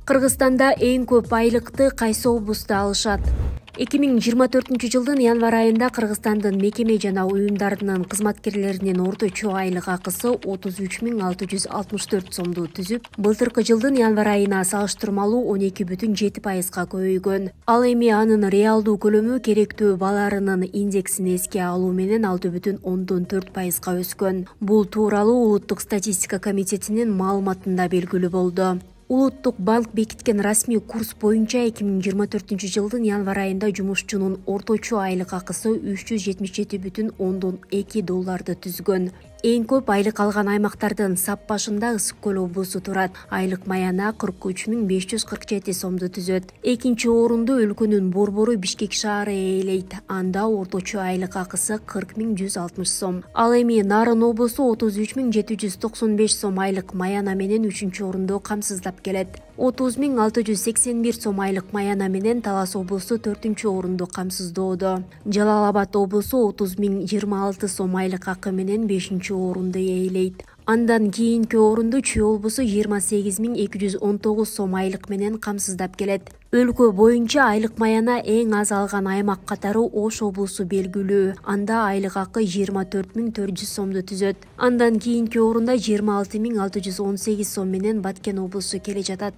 Кыргызстанда эң көп айлыкты кайсы облустта алышат? 2024 жылдын январь айында Кыргызстандын мекеме жана уюмдарынын кызматкерлеринин орточо айлык акысы 33.664 сомду түзүп, былтыркы жылдын январь айына салыштырмалуу 12,7%га көбөйгөн. Ал эми анын реалдуу көлөмү керектүү баларынын индексин эске алуу менен 6,4%га өскөн. Бул тууралуу Улуттук статистика комитетинин маалыматында белгилүү болду. Улуттук банк бекиткен расмий курс боюнча 2024 жылдын январь айында жумушчунун орточо айлык акысы $377,2 түзгөн. Эң көп айлык алган аймактардын сап башында Ысык көл облусу турат. Айлык маяна 43.547 сомду түзөт. Экинчи орунду өлкөнүн борбору Бишкек шаары ээлейт. Анда орточо айлык акысы 40.160 сом. Ал эми Нарын облусу 33.795 сом айлык маяна менен 3-орунду камсыздап келет. 30.681 сом айлык маяна менен Талас облусу 4-орунду камсыздоодо. Жалал Абад облусу 30.026 сом айлык акы менен 5-орунду ээлейт. Андан кийинки орунду Чүй облусу 28.219 сом айлык менен камсыздап келет. Өлкө боюнча айлык маяна эң аз алган аймак катары Ош облусу белгилүү. Анда айлык акы 24.400 сомду түзөт. Андан кийинки орунда 26.618 сом менен Баткен облусу келе жатат.